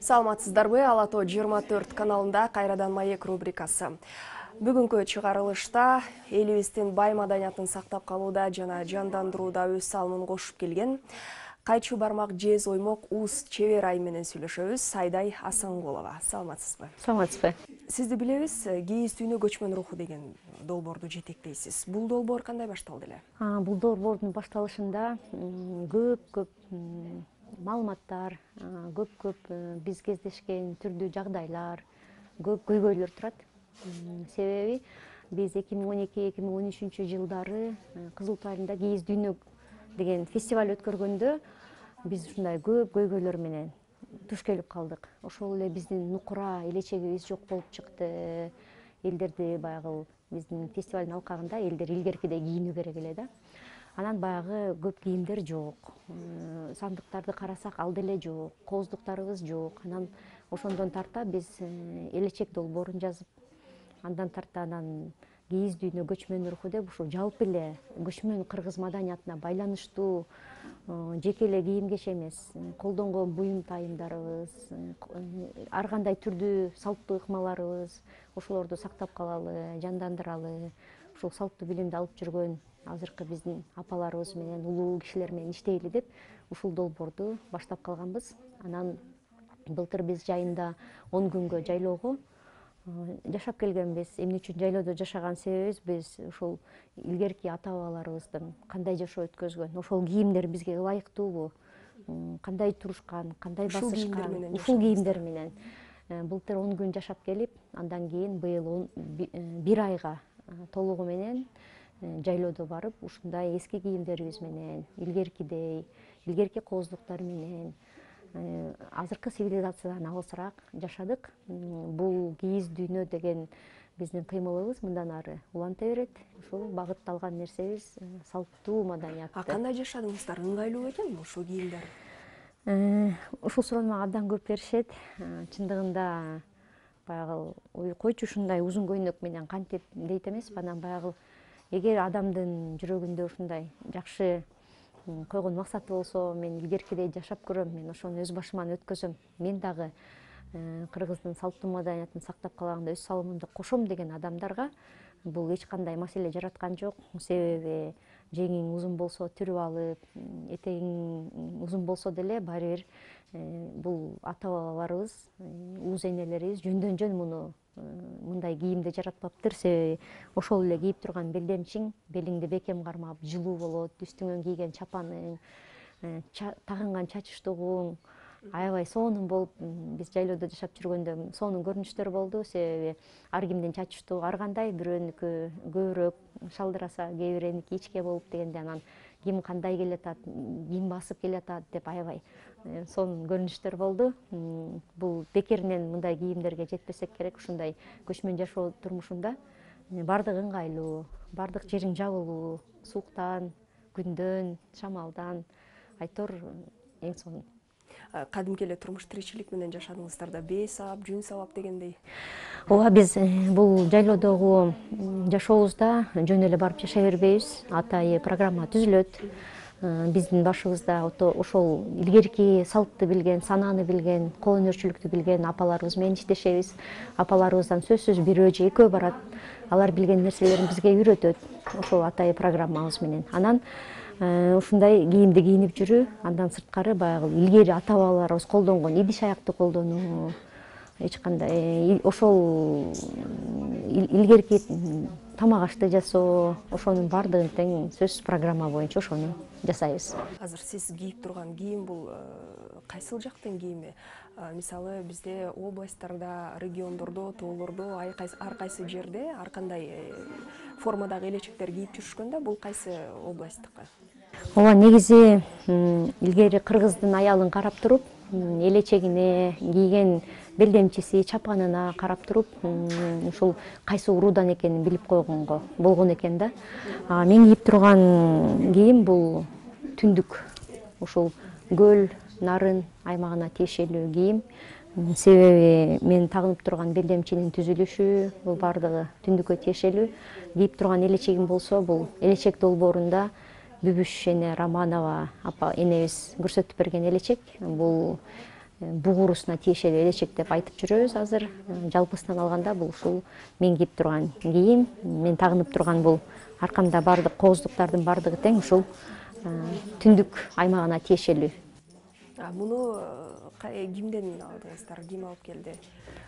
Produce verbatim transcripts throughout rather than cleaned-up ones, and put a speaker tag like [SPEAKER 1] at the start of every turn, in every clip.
[SPEAKER 1] Саламатсыздарбы? Ала тоо жыйырма төрт каналында кайрадан маек рубрикасы. Бүгүнкү чыгарылышта элибиздин бай маданиятын сактап калууда жана жандандырууда өз салымын кошуп келген Кайчу бармак жез оймок Уус чебер айым менен сүйлөшөбүз. Сайдай Асанкулова. Саламатсызбы?
[SPEAKER 2] Саламатсызбы.
[SPEAKER 1] Сизди билебиз, кийиз дүйнө көчмөн руху деген долбоорду жетектейсиз. Бул долбоор кандай башталды эле?
[SPEAKER 2] Бул долбоордун башталышында көп-көп маалыматтар, көп-көп биз кездешкен түрдүү жагдайлар, көп көйгөйлөр турат. Себеби биз эки миң он эки эки миң он үчүнчү жылдары Кызыл Туу айылында кийиз дүйнө деген фестиваль өткөргөндө биз ушундай көп көйгөйлөр менен туш келип калдык. Ошол эле биздин нукура элечегибиз жок болуп чыкты. Элдерди баягы биздин фестивалдын алкагында элдер илгеркидей кийинүү керек эле да. Анан баягы көп кийимдер жок. Сандыктарды карасак ал деле жок, кооздуктарыбыз жок. Анан ошондон тарта биз элечек долбоорун жазып, андан тарта анан кийиз дүйнө көчмөн руху деп ушу жалпы эле көчмөн кыргыз маданиятына байланыштуу жеке эле кийим кече эмес, колдонгон буюм тайымдарыбыз, ар кандай түрдүү салттуу ыкмаларыбыз, ошолорду сактап калалы, жандандыралы, ушул салттуу билимди алып жүргөн азыркы биздин апаларыбыз менен, улуу кишилер менен иштейли деп ушул долбоорду баштап калганбыз. Анан былтыр биз жайында он күнгө жайлоого жашап келгенбиз. Эмне үчүн жайлоодо жашаган себебибиз биз ушул илгерки ата-бабаларыбыздын кандай жашоо өткөзгөн, ошол кийимдер бизге ылайыктуубу, кандай турушкан, кандай басышкан, ушул кийимдер менен былтыр он күн жашап келип, андан кийин быйыл бир айга толугу менен жайлоодо барып, ушундай эски кийимдерибиз менен, илгеркидей, илгерки кооздуктар менен азыркы цивилизациядан алысыраак жашадык. Бул кийиз дүйнө деген биздин кыймылыбыз мындан ары уланта берет. Ушул багытталган нерсебиз салттуу маданиятты.
[SPEAKER 1] А кандай жашадыңыздар? Ыңгайлуу экенби ушул кийимдер?
[SPEAKER 2] Ушул суроону мага абдан көп беришет. Чындыгында баягы ой койчу ушундай узун көйнөк менен кантип дейт эмеспи. Анан баягы эгер адамдын жүрөгүндө ушундай жакшы койгон максаты болсо, мен илгеркидей жашап көрөм, мен ошону өз башыман өткөзөм, мен дагы кыргыздын салттуу маданиятын сактап калганда өз салымымды кошом деген адамдарга бул эч кандай маселе жараткан жок. Себеби жеңиң узун болсо түрүп алып, этегиң узун болсо деле баары бир бул ата-бабаларыбыз, уз энелерибиз жөндөн жөн муну мындай кийимди жаратпаптыр. Себеби ошол эле кийип турган белдемчиң белиңди бекем кармап жылуу болот, үстүңөн кийген чапаның, тагынган чачыштыгуң аябай сонун болуп, биз жайлоодо жашап жүргөндө сонун көрүнүштөр болду. Себеби ар кимдин чачыштыгы ар кандай, бирөөнүкү көбүрөөк шалдыраса, кээ бирөөнүкү ичке болуп дегенде анан ким кандай келатат, ким басып келатат деп аябай сонун көрүнүштөр болду. Бул бекеринен мындай кийимдерге жетпесек керек. Ушундай көчмөн жашоо турмушунда бардыгы ыңгайлуу, бардык жериң жабылуу, сууктан, күндөн, шамалдан, айтор эң сонун.
[SPEAKER 1] Кадимки эле турмуш тиричилик менен жашадыңыздар да, бээ сабап, жүн сабап дегендей.
[SPEAKER 2] Ооба, биз бул жайлоодогу жашообузда жөн эле барып жашай бербейбиз. Атайы программа түзүлөт. Биздин башыбызда ошол илгерки салтты билген, санааны билген, кол өнөрчүлүктү билген апаларыбыз менен иштешебиз. Апаларыбыздан сөзсүз бирөө же экөө барат. Алар билген нерселерин бизге үйрөтөт. Ошол атайы программабыз менен. Анан ушундай кийимди кийинип жүрүү, андан сырткары баягы илгери ата-бабаларыбыз колдонгон идиш аякты колдонуу, эч кандай ошол илгерки тамак ашты жасоо, ошонун баардыгын тең сөзсүз программа боюнча ошону жасайбыз.
[SPEAKER 1] Азыр сиз кийип турган кийим бул кайсыл жактын кийими? Мисалы бизде областтарда, региондордо, тоолордо ар кайсы жерде ар кандай формадагы элечектер кийип жүрүшкөн да, бул кайсы областтыкы?
[SPEAKER 2] Ооба, негизи илгери кыргыздын аялын карап туруп, элечегине, кийген белдемчиси, чапанына карап туруп, ушул кайсы уруудан экенин билип койгонго болгон экен да. Мен кийип турган кийим бул түндүк, ушул көл, нарын аймагына тиешелүү кийим. Себеби мен тагынып турган белдемчинин түзүлүшү бул баардыгы түндүккө тиешелүү. Кийип турган элечегим болсо, бул элечек долбоорунда Бүбүш эне Романова апа энебиз көрсөтүп берген элечек. Бул бугурусуна тиешелүү элечек деп айтып жүрөбүз азыр. Жалпысынан алганда бул ушул мен кийип турган кийим, мен тагынып турган бул аркамда бардык кооздуктардын бардыгы тең ушул түндүк аймагына тиешелүү.
[SPEAKER 1] Муну кимден алдыңыздар, ким алып келди?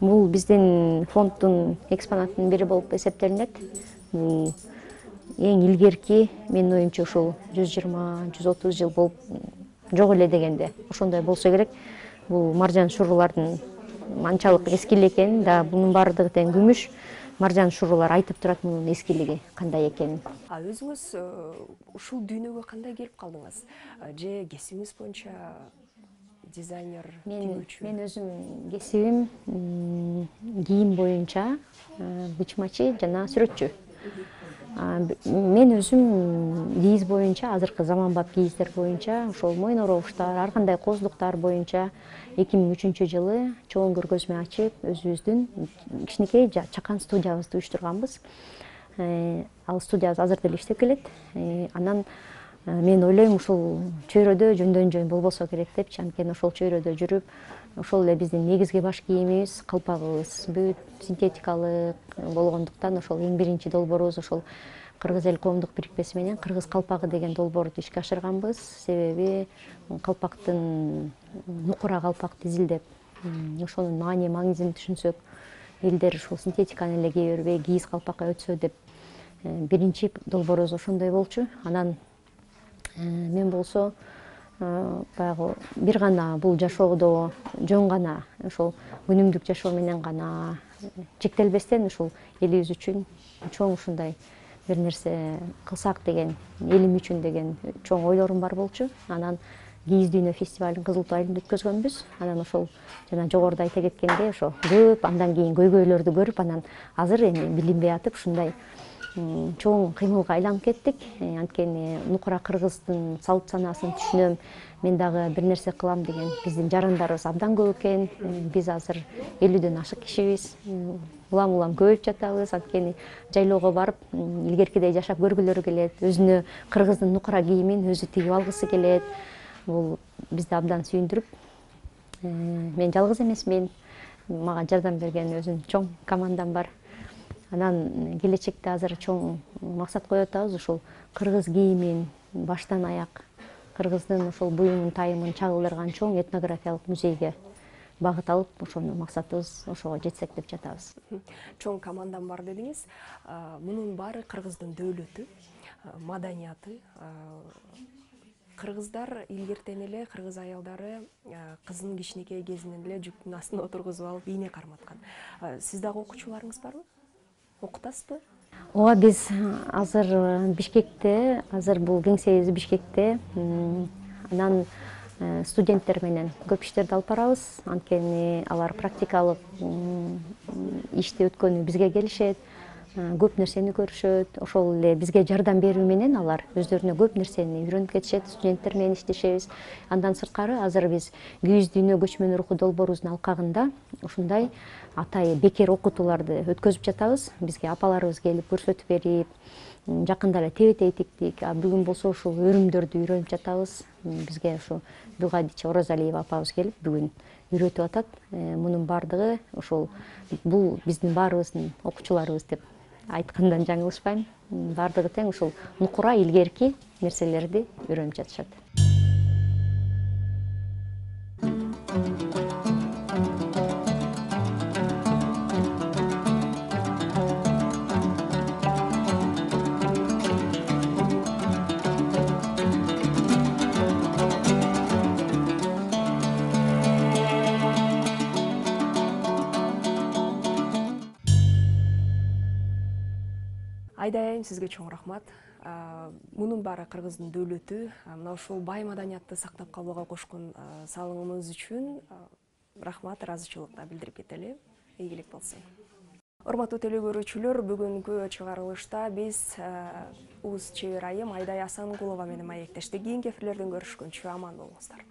[SPEAKER 2] Бул биздин фонддун экспонатынын бири болуп эсептелинет. Бул эң илгерки, менин оюмча ушул жүз жыйырма жүз отуз жыл болуп жок эле дегенде ошондой болсо керек. Бул маржан шурулардын анчалык эски эле экенин, да бунун баардыгы тең күмүш. Маржан шурулар айтып турат мунун эскилиги кандай экенин.
[SPEAKER 1] А өзүңүз ушул дүйнөгө кандай келип калдыңыз? Же кесибиңиз боюнча дизайнер, тигүүчү?
[SPEAKER 2] Мен өзүм кесибим кийим боюнча бычмачы жана сүрөтчү. Мен өзүм кийиз боюнча, азыркы заманбап кийиздер боюнча, ошол мойын оробуштар, ар кандай кооздуктар боюнча эки миң үчүнчү жылы чоң көргөзмө ачып, өзүбүздүн кичинекей чакан студиябызды уюштурганбыз. Ал студиябыз азыр деле иштеп келет. Анан мен ойлойм, ушул чөйрөдө жөндөн жөн болбосо керек депчи, анткени ошол чөйрөдө жүрүп, ошол эле биздин негизги баш кийимибиз, калпагыбыз бүт синтетикалык болгондуктан ошол эң биринчи долбоорубуз ошол Кыргыз эл коомдук бирикмеси менен кыргыз калпагы деген долбоорду ишке ашырганбыз. Себеби калпактын нукура калпакты изилдеп, ошонун маани маңызын түшүнсөк, элдер ушул синтетиканы эле кие бербей кийиз калпакка өтсө деп биринчи долбоорубуз ошондой болчу. Анан мен болсо баягы бир гана бул жашоодо жөн гана ошол күнүмдүк жашоо менен гана чектелбестен ушул элибиз үчүн чоң ушундай бир нерсе кылсак деген, элим үчүн деген чоң ойлорум бар болчу. Анан кийиз дүйнө фестивалын Кызыл Туу айылында өткөзгөнбүз. Анан ошол жана жогоруда айта кеткендей ошо көп андан кийин көйгөйлөрдү көрүп, анан азыр эми билинбей атып ушундай чоң кыймылга айланып кеттик. Анткени нукура кыргыздын салт санаасын түшүнөм, мен дагы бир нерсе кылам деген биздин жарандарыбыз абдан көп экен. Биз азыр элүүдөн ашык кишибиз, улам улам көбөйүп жатабыз. Анткени жайлоого барып илгеркидей жашап көргүлөрү келет, өзүнө кыргыздын нукура кийимин өзү тигип алгысы келет. Бул бизди абдан сүйүндүрүп, мен жалгыз эмесмин, мага жардам берген өзүнүн чоң командам бар. Анан келечекте азыр чоң максат коюп атабыз, ушул кыргыз кийимин баштан аяк кыргыздын ошол буюмун тайымын чагылдырган чоң этнографиялык музейге багыт алып, ошону максатыбыз ошого жетсек деп жатабыз.
[SPEAKER 1] Чоң командам бар дедиңиз. Мунун баары кыргыздын дөөлөтү, маданияты. Кыргыздар илгертен эле, кыргыз аялдары кызын кичинекей кезинен эле жүктүн астына отургузуп алып ийне карматкан. Сиз дагы окуучуларыңыз барбы? Окутасызбы?
[SPEAKER 2] Ооба, биз азыр Бишкекте, азыр бул кеңсебиз Бишкекте. Анан студенттер менен көп иштерди алып барабыз. Анткени алар практикалык ишти өткөнү бизге келишет, көп нерсени көрүшөт. Ошол эле бизге жардам берүү менен алар өздөрүнө көп нерсени үйрөнүп кетишет. Студенттер менен иштешебиз. Андан сырткары азыр биз күйүз дүйнө көчмөн руху долбоорубуздун алкагында ушундай атайы бекер окутууларды өткөзүп жатабыз. Бизге апаларыбыз келип көрсөтүп берип, жакында эле тебетей тиктик. Бүгүн болсо ушул өрүмдөрдү үйрөнүп жатабыз. Бизге ушу Бугадичи Орозалиева апабыз келип бүгүн үйрөтүп атат. Мунун баардыгы ушул бул биздин баарыбыздын окуучуларыбыз деп айткандан жаңылышпайм. Баардыгы тең ушул нукура илгерки нерселерди үйрөнүп жатышат.
[SPEAKER 1] Айдай айым, сизге чоң рахмат. Мунун баары кыргыздын дөөлөтү, мына ушул бай маданиятты сактап калууга кошкон салымыңыз үчүн рахмат, ыраазычылык да билдирип кетели. Ийгилик болсун. Урматтуу теле көрүүчүлөр, бүгүнкү чыгарылышта биз уз чебер айым Айдай Асангулова менен маектештик. Кийинки эфирлерден көрүшкөнчө аман болуңуздар.